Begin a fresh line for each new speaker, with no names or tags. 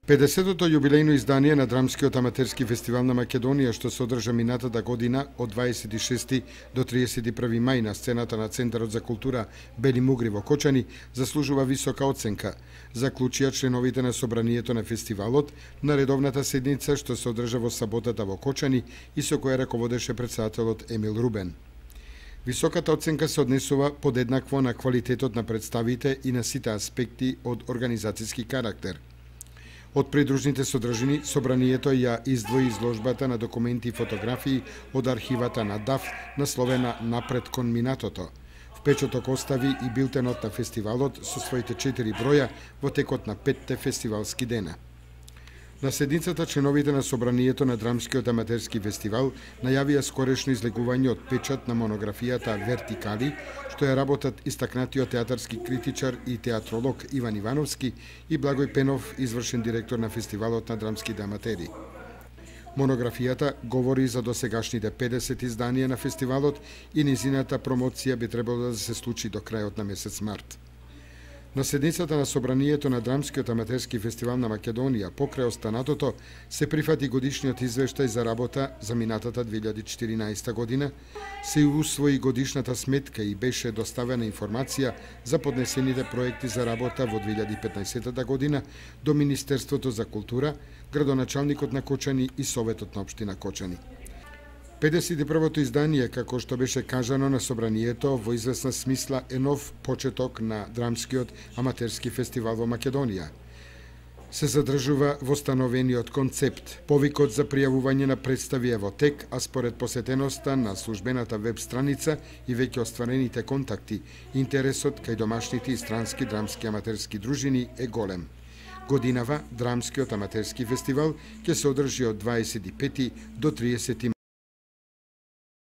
50-то јубилејно издание на Драмскиот аматерски фестивал на Македонија, што се одржа минатата година од 26 до 31 мај на сцената на Центарот за култура Бели Мугри во Кочани, заслужува висока оценка, заклучија членовите на собранието на фестивалот на редовната седница што се одржа во саботата во Кочани и со која раководеше претседателот Емил Рубен. Високата оценка се однесува подеднакво на квалитетот на представите и на сите аспекти од организацијски карактер. Од придружните содржини, собранието ја издвои изложбата на документи и фотографии од архивата на ДАФ насловена "Напред кон минатото". Впечаток остави и билтенот на фестивалот со своите 4 броја во текот на 5 фестивалски дена. На седницата членовите на собранието на Драмскиот аматерски фестивал најавија скорешно излегување од печат на монографијата "Вертикали", што е работат истакнатиот театарски критичар и театролог Иван Ивановски и Благој Пенов, извршен директор на фестивалот на драмските аматери. Монографијата говори за досегашните 50 изданија на фестивалот и низината промоција би требало да се случи до крајот на месец март. На седницата на собранието на Драмскиот аматерски фестивал на Македонија, покрај останатото, се прифати годишниот извештај за работа за минатата 2014 година, се усвои годишната сметка и беше доставена информација за поднесените проекти за работа во 2015 година до Министерството за култура, градоначалникот на Кочани и Советот на општина Кочани. 51-то издание, како што беше кажано на собранието, во известна смисла е нов почеток на Драмскиот аматерски фестивал во Македонија. Се задржува востановениот концепт. Повикот за пријавување на представи е во тек, а според посетеноста на службената веб страница и веќе остварените контакти, интересот кај домашните и странски драмски аматерски дружини е голем. Годинава Драмскиот аматерски фестивал ќе се одржи од 25 до 30